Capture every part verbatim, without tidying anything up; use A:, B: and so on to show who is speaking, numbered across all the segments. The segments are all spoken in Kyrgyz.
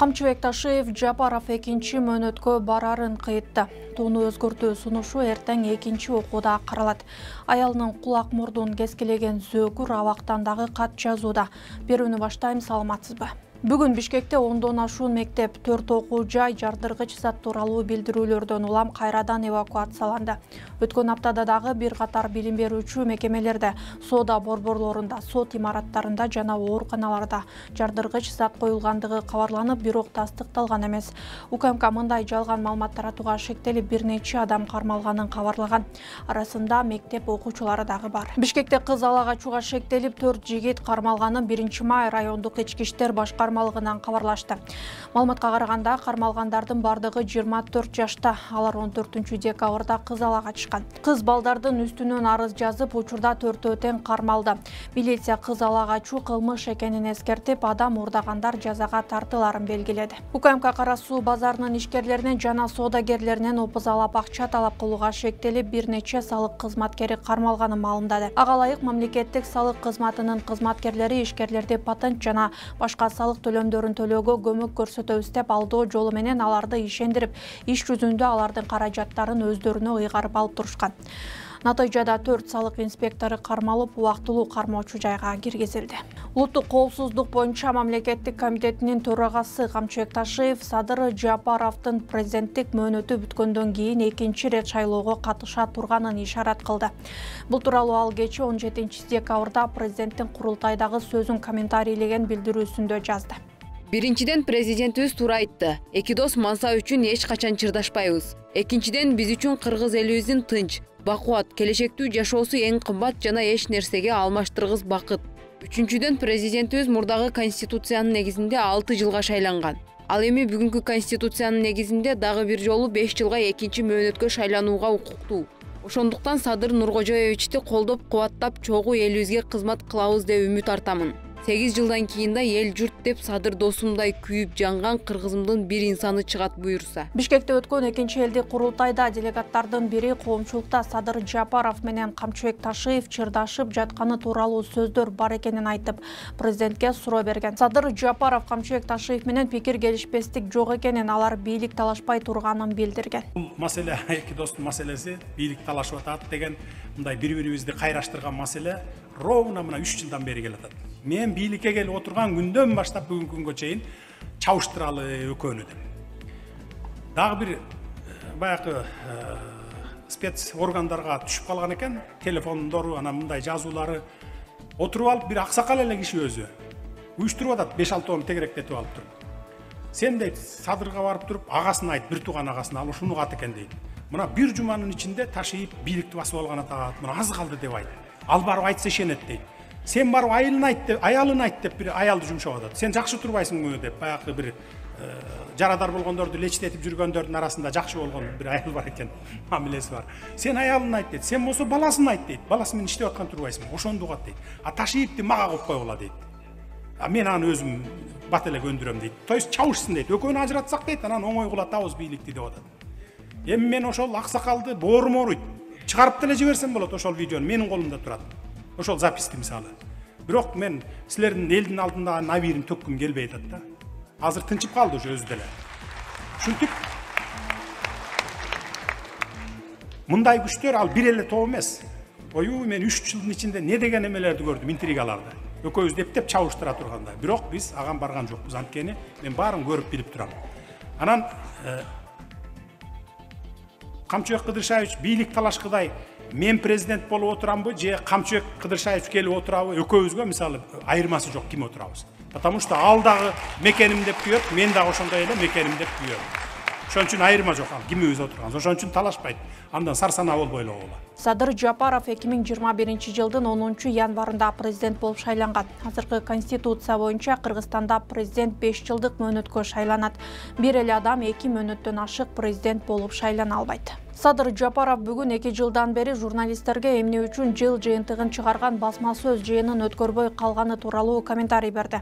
A: Камчыбек Ташиев Жапаров экинчи мөөнөткө барарын кыйтты. Тууну өзгөртүү сунушу эртең экинчи окууда каралат. Аялынын кулак мурдун кескилеген зөкүр абактан дагы кат жазууда. Берүүнү баштайм, саламатсызбы? Бүгүн Бишкекте ондон ашуун мектеп, төрт окуу жай жардыргыч зат тууралуу билдирүүлөрдөн улам кайрадан эвакуацияланды. Өткөн аптада дагы бир катар билим берүүчү мекемелерде, соода борборлорунда, сот имараттарында жана ооруканаларда жардыргыч зат коюлгандыгы кабарланып, бирок тастыкталган эмес. УКМК мындай жалган маалымат таратууга шектелип, бир нече адам кармалганын кабарлаган. Арасында мектеп окуучулары дагы бар. Бишкекте кыз ала качууга шектелип, төрт жигит кармалганын биринчи май райондук ички иштер башкармалыгынан кабарлашты. Маалыматка караганда, кармалгандардын бардыгы жыйырма төрт жашта. Алар он төртүнчү декабрда кыз ала качкан. Кыз балдардын үстүнөн арыз жазып, учурда төртөө тең кармалды. Милиция кыз ала качуу кылмыш экенин эскертип, адам урдагандар жазага тартыларын белгиледи. УКМК Кара суу базарынын ишкерлеринен жана соодагерлеринен опуз алап акча талап кылууга шектелип, бир нече салык кызматкери кармалганын маалымдады. Ага ылайык мамлекеттик салык кызматынын кызматкерлери ишкерлерди патент жана башка салык төлөмдөрүн төлөөгө көмөк көрсөтөбүз деп алдоо жолу менен аларды ишендирип, иш жүзүндө алардын каражаттарын өздөрүнө ыйгарып алып турушкан. Натыйжада төрт салык инспектору кармалып, убактылуу кармоочу жайга киргизилди. Улуттук коопсуздук боюнча мамлекеттик комитетинин төрагасы Камчыбек Ташиев Садыр Жапаровдун президенттик мөөнөтү бүткөндөн кийин экинчи ирет шайлоого катыша турганын ишарат кылды. Бул тууралуу ал кечээ он жетинчи декабрда президенттин курултайдагы сөзүн комментарийлеген билдирүүсүндө жазды.
B: Биринчиден, президентибиз туура айтты. Эки дос мансап үчүн эч качан чырдашпайбыз. Экинчиден, биз үчүн кыргыз элибиздин тынч, бакубат, келечектүү жашоосу эң кымбат жана эч нерсеге алмаштыргыс бакыт. Үчүнчүдөн, президентибиз мурдагы конституциянын негизинде алты жылга шайланган. Ал эми бүгүнкү конституциянын негизинде дагы бир жолу беш жылга экинчи мөөнөткө шайланууга укуктуу. Ошондуктан Садыр Нуркожоевичти колдоп, кубаттап, чогуу элибизге кызмат кылабыз деп үмүт артамын. сегиз жылдан кийин да эл журт деп Садыр досумдай күйүп жанган кыргызымдын бир инсаны чыгат буюрса.
A: Бишкекте өткөн экинчи элдик курултайда делегаттардын бири коомчулукта Садыр Жапаров менен Камчыбек Ташиев чырдашып жатканы тууралуу сөздөр бар экенин айтып, президентке суроо берген. Садыр Жапаров Камчыбек Ташиев менен пикир келишпестик жок экенин, алар бийлик талашпай турганын билдирген.
C: Бул маселе эки достун маселеси, бийлик талашып атат деген мындай бири-бирибизди кайраштырган маселе ровно мына үч жылдан бери келатат. Мен бийликке келип отурган күндөн баштап бүгүнкү күнгө чейин чабыштыралы экөөнү деп. Дагы бир баягы спец органдарга түшүп калган экен, телефондору, анан мындай жазуулары отуруп алып, бир аксакал эле киши өзү уюштуруп атат, беш алтоону тегеректетип алып туруп. Сен дейт, Садырга барып туруп, агасына айт, бир тууган агасына, ал ушуну кат экен дейт. Мына бир жуманын ичинде Ташиев бийликти басып алган атат, мына аз калды деп айт. Ал барып айтса ишенет дейт. Сен барып айылын айт деп, аялын айт деп бир аялды жумшап атат. Сен жакшы турбайсыңбы деп, баягы бир жарадар болгондорду лечтетип жүргөндөрдүн арасында жакшы болгон бир аял бар экен, мамилеси бар. Сен аялын айт дейт. Сен болсо баласын айт дейт. Баласы менен иштеп аткан турбайсыңбы? Ошондо угат дейт. А Ташиевди мага коюп койгула дейт. А мен аны өзүм бат эле көндүрөм дейт. То есть чабышсын дейт. Экөөнү ажыратсак дейт, анан оңой кулатабыз бийликти деп атат. Эми мен ошол аксакалды боорум ооруйт. Чыгарып деле жиберсем болот, ошол видеону менин колумда турат. Ошол записти мисалы. Бирок мен силердин элдин алдында набирин төккүм келбей атат да. Азыр тынчып калды ошо өзү деле. Ушинтип мындай күчтөр ал бир эле топ эмес. Ою мен үч жылдын ичинде не деген эмелерди көрдүм, интригаларды. Экөөбүз дептеп чабыштыра турганда. Бирок биз аган барган жокпуз, анткени мен баарын көрүп билип турам. Анан Камчыбек Кыдыршаевич бийлик талашкыдай мен президент болуп отурамбы же Камчыбек Кыдыршаевич келип отурабы, экөөбүзгө мисалы айырмасы жок, ким отурабыз. Потому что ал дагы мекеним деп күйөт, мен дагы ошондой эле мекеним деп күйөм. Ошон үчүн айырма жок, ал кимибиз отурганбыз. Ошон үчүн талашпайт. Андан сарсанаа болбой эле койгула.
A: Садыр Жапаров эки миң жыйырма биринчи жылдын онунчу январында президент болуп шайланган. Азыркы конституция боюнча Кыргызстанда президент беш жылдык мөөнөткө шайланат. Бир эле адам эки мөөнөттөн ашык президент болуп шайлана албайт. Садыр Жапаров бүгүн эки жылдан бери журналисттерге эмне үчүн жыл жыйынтыгын чыгарган басма сөз жыйынын өткөрбөй калганы тууралуу комментарий берди.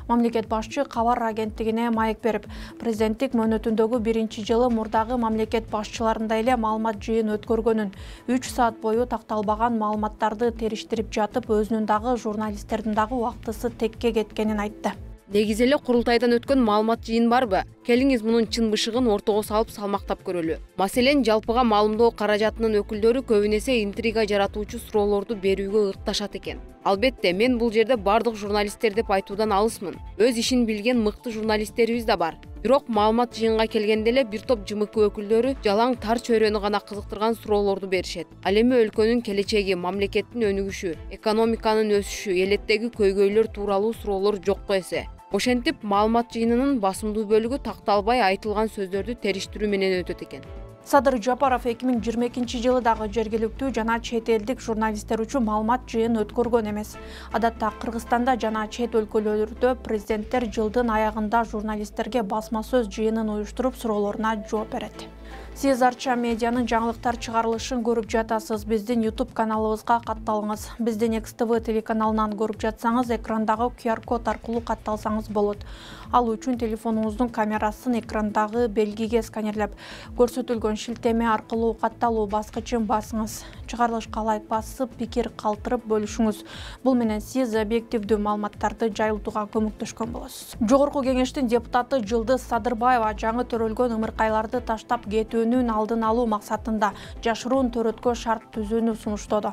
A: Мамлекет башчы кабар агенттигине маек берип, президенттик мөөнөтүндөгү биринчи жылы мурдагы мамлекет башчыларындай эле маалымат жыйын өткөргөнүн, үч саат бою такталбаган маалыматтарды териштирип жатып, өзүнүн дагы журналисттердин дагы убактысы текке кеткенин айтты.
B: Негизи эле курултайдан өткөн маалымат жыйын барбы? Келиңиз мунун чын бышыгын ортого салып салмактап көрөлү. Маселен, жалпыга маалымдоо каражатынын өкүлдөрү көбүн эсе интрига жаратуучу суроолорду берүүгө ыкташат экен. Албетте, мен бул жерде бардык журналисттер деп айтуудан алысмын. Өз ишин билген мыкты журналисттерибиз да бар. Бирок маалымат жыйынга келгенде эле бир топ ЖМК өкүлдөрү жалаң тар чөйрөнү гана кызыктырган суроолорду беришет. Ал эми өлкөнүн келечеги, мамлекеттин өнүгүшү, экономиканын өсүшү, элеттеги көйгөйлөр тууралуу суроолор жокко эсе. Ошентип, маалымат жыйынынын басымдуу бөлүгү такталбай айтылган сөздөрдү териштирүү менен өтөт экен.
A: Садыр Жапаров эки миң жыйырма экинчи жылы дагы жергиликтүү жана чет элдик журналисттер үчүн маалымат жыйын өткөргөн эмес. Адатта Кыргызстанда жана чет өлкөлөрдө президенттер жылдын аягында журналисттерге басма сөз жыйынын уюштуруп суроолоруна жооп берет. Сиз Арча медианын жаңылыктар чыгарылышын көрүп жатасыз. Биздин YouTube каналыбызга катталыңыз. Биздин X T V телеканалынан көрүп жатсаңыз, экрандагы Q R код аркылуу катталсаңыз болот. Ал үчүн телефонуңуздун камерасын экрандагы белгиге сканерлеп, көрсөтүлгөн шилтеме аркылуу катталуу баскычын басыңыз. Чыгарылышка лайк басып, пикир калтырып бөлүшүңүз. Бул менен сиз объективдүү маалыматтарды жайылтууга көмөктөшкөн болосуз. Жогорку кеңештин депутаты Жылдыз Садырбаева жаңы төрөлгөн ымыркайларды таштап кетүүнүн алдын алуу максатында жашыруун төрөткө шарт түзүүнү сунуштоду.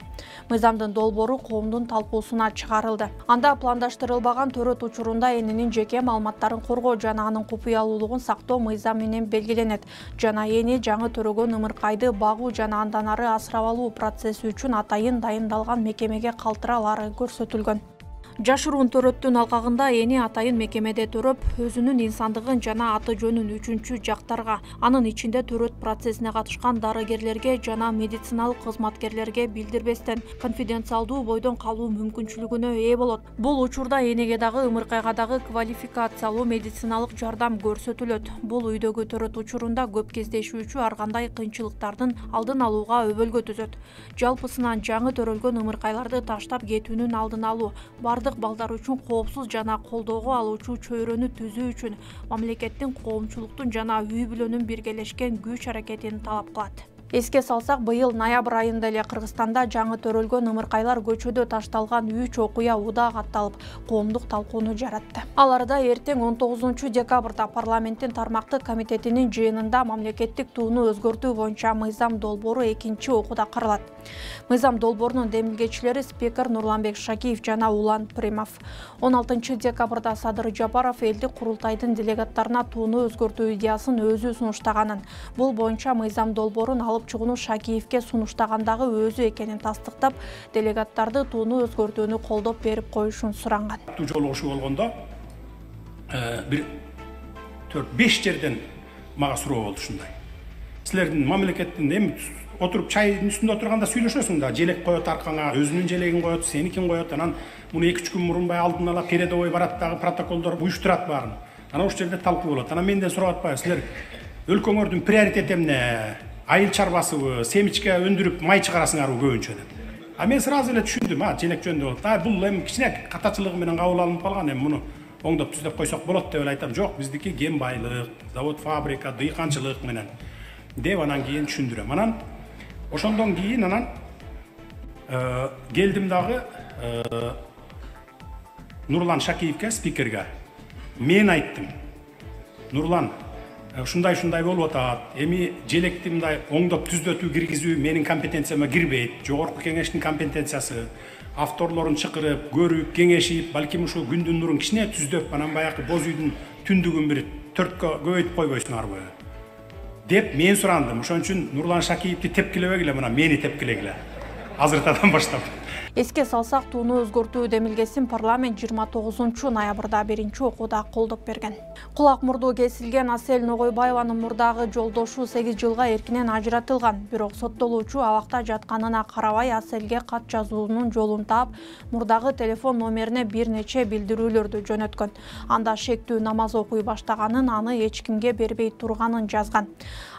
A: Мыйзамдын долбоору коомдун талкуусуна чыгарылды. Анда пландаштырылбаган төрөт учурунда эненин жеке маалыматтарын коргоо жана анын купуялуулугун сактоо мыйзам менен белгиленет. Жана эни жаңы төрөгөн ымыркайды багуу жана андан ары асырап алуу процесси үчүн атайын дайындалган мекемеге калтыралары көрсөтүлгөн. Жашыруун төрөттүн алкагында эни атайын мекемеде төрөп, өзүнүн инсандыгын жана аты жөнүн үчүнчү жактарга, анын ичинде төрөт процессине катышкан дарыгерлерге жана медициналык кызматкерлерге билдирбестен конфиденциалдуу бойдон калуу мүмкүнчүлүгүнө ээ болот. Бул учурда энеге дагы ымыркайга дагы квалификациялуу медициналык жардам көрсөтүлөт. Бул үйдөгү төрөт учурунда көп кездешүүчү ар кандай кыйынчылыктардын алдын алууга өбөлгө түзөт. Жалпысынан жаңы төрөлгөн ымыркайларды таштап кетүүнүн алдын алуу, бардык балдар үчүн коопсуз жана колдоого алуучу чөйрөнү түзүү үчүн мамлекеттин, коомчулуктун жана үй бүлөнүн биргелешкен күч аракетин талап кылат. Эске салсак, быйыл ноябрь айында эле Кыргызстанда жаңы төрөлгөн ымыркайлар көчөдө ташталган үч окуя удаа катталып, коомдук талкууну жаратты. Аларда эртең он тогузунчу декабрда парламенттин тармактык комитетинин жыйынында мамлекеттик тууну өзгөртүү боюнча мыйзам долбоору экинчи окууда каралат. Мыйзам долбоорунун демилгечилери спикер Нурланбек Шакиев жана Улан Примов. он алтынчы декабрда Садыр Жапаров элдик курултайдын делегаттарына тууну өзгөртүү идеясын өзү сунуштаганын, бул боюнча мыйзам долбоорун алып чыгууну Шакиевке сунуштагандагы өзү экенин тастыктап, делегаттарды тууну өзгөртүүнү колдоп берип коюшун суранган.
C: Жолугушуу болгондо бир төрт беш жерден мага суроо болду ушундай. Силердин мамлекеттин эми отуруп чайдын үстүндө отурганда сүйлөшөсүң да, желек коет аркаңа, өзүнүн желегин коет, сеникин коет, анан муну эки үч күн мурун бай алдын ала передовой барат дагы протоколдор уюштурат баарын. Анан ошол жерде талкуу болот. Анан менден сурап атпайбы, силер өлкөңөрдүн приоритети эмне? Айыл чарбасыбы, семичке өндүрүп май чыгарасыңарбы көбүнчө деп. А мен сразу эле түшүндүм, а желек жөнүндө болот. А бул эми кичине катачылыгы менен кабыл алынып калган, эми муну оңдоп түздөп койсок болот деп эле айтам. Жок, биздики кен байлык, завод, фабрика, дыйканчылык менен деп анан кийин түшүндүрөм. Анан ошондон кийин анан келдим дагы Нурлан Шакиевке, спикерге. Мен айттым. Нурлан, ушундай-ушундай болуп атат. Эми желекти мындай оңдоп түзөтүү киргизүү менин компетенцияма кирбейт. Жогорку кеңештин компетенциясы. Авторлорун чакырып, көрүп, кеңешип, балким ушул күндүн нурун кичине түздөп, анан баягы боз үйдүн түндүгүн бир төрткө көбөйтүп койбойсуңарбы деп мен сурандым. Ошон үчүн Нурлан Шакиевди тепкилебегиле, мына мени тепкилегиле. Азыртадан баштап.
A: Эске салсак, тууну өзгөртүү демилгесин парламент жыйырма тогузунчу ноябрда биринчи окууда колдоп берген. Кулак мурду кесилген Асель Ногойбаеванын мурдагы жолдошу сегиз жылга эркинен ажыратылган. Бирок соттолуучу абакта жатканына карабай Аселге кат жазуунун жолун таап, мурдагы телефон номерине бир нече билдирүүлөрдү жөнөткөн. Анда шектүү намаз окуй баштаганын, аны эч кимге бербей турганын жазган.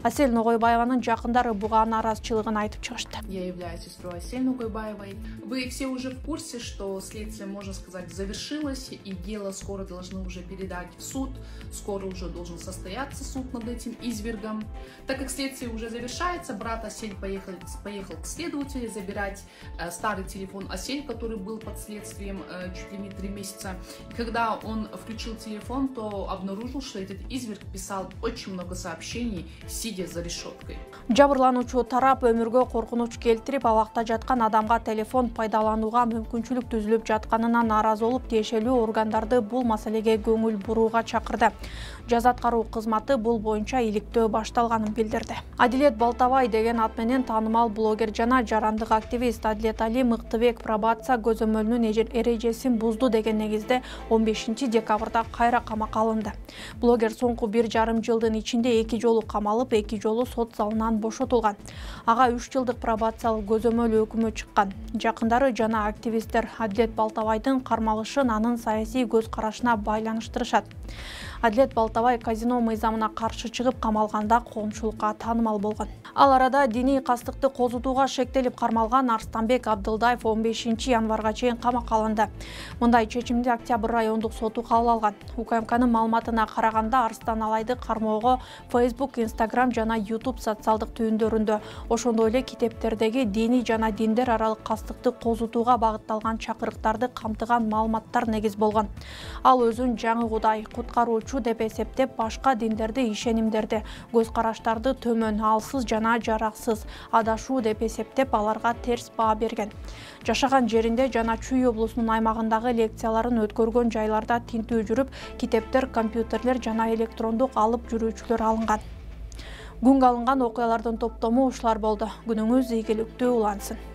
A: Асель Ногойбаеванын жакындары буга нааразычылыгын айтып чыгышты.
D: Я являюсь сестрой Асель Ногойбаевой. Вы вы все уже в курсе, что следствие, можно сказать, завершилось, и дело скоро должны уже передать в суд, скоро уже должен состояться суд над этим извергом. Так как следствие уже завершается, брат Асель поехал, поехал к следователю забирать э, старый телефон Асель, который был под следствием э, чуть ли не три месяца. И когда он включил телефон, то обнаружил, что этот изверг писал очень много сообщений, сидя за решеткой.
A: Жабырлануучу тарап өмүргө коркунуч келтирип, абакта жаткан адамга телефон пайдаланууга мүмкүнчүлүк түзүлүп жатканына нааразы болуп, тиешелүү органдарды бул маселеге көңүл бурууга чакырды. Жаза аткаруу кызматы бул боюнча иликтөө башталганын билдирди. Адилет Балтабай деген ат менен таанымал блогер жана жарандык активист Адилет Али Мыктыбек пробация көзөмөлүнүн эрежесин бузду деген негизде он бешинчи декабрда кайра камакка алынды. Блогер соңку бир жарым жылдын ичинде эки жолу камалып, эки жолу сот залынан бошотулган. Ага үч жылдык пробациялык көзөмөл өкүмү чыккан. Жакындары жана активисттер Адилет Балтабайдын кармалышын анын саясий көз карашына байланыштырышат. Адилет Балтабай казино мыйзамына каршы чыгып камалганда коомчулукка таанымал болгон. Ал арада диний кастыкты козутууга шектелип кармалган Арстанбек Абдылдаев он бешинчи январга чейин камакка алынды. Мындай чечимди Октябрь райондук соту кабыл алган. УКМКнын маалыматына караганда Арстан Алайды кармоого Facebook, Instagram жана YouTube социалдык түйүндөрүндө, ошондой эле китептердеги диний жана диндер аралык кастыкты козутууга багытталган чакырыктарды камтыган маалыматтар негиз болгон. Ал өзүн жаңы Кудай, куткаруучу деп эсептеп, башка диндерди, ишенимдерди, көз караштарды төмөн, алсыз жана жараксыз, адашуу деп эсептеп, аларга терс баа берген. Жашаган жеринде жана Чүй облусунун аймагындагы лекцияларын өткөргөн жайларда тинтүү жүрүп, китептер, компьютерлер жана электрондук алып жүрүүчүлөр алынган. Күнгө алынган окуялардын топтому ушулар болду. Күнүңүз ийгиликтүү улансын.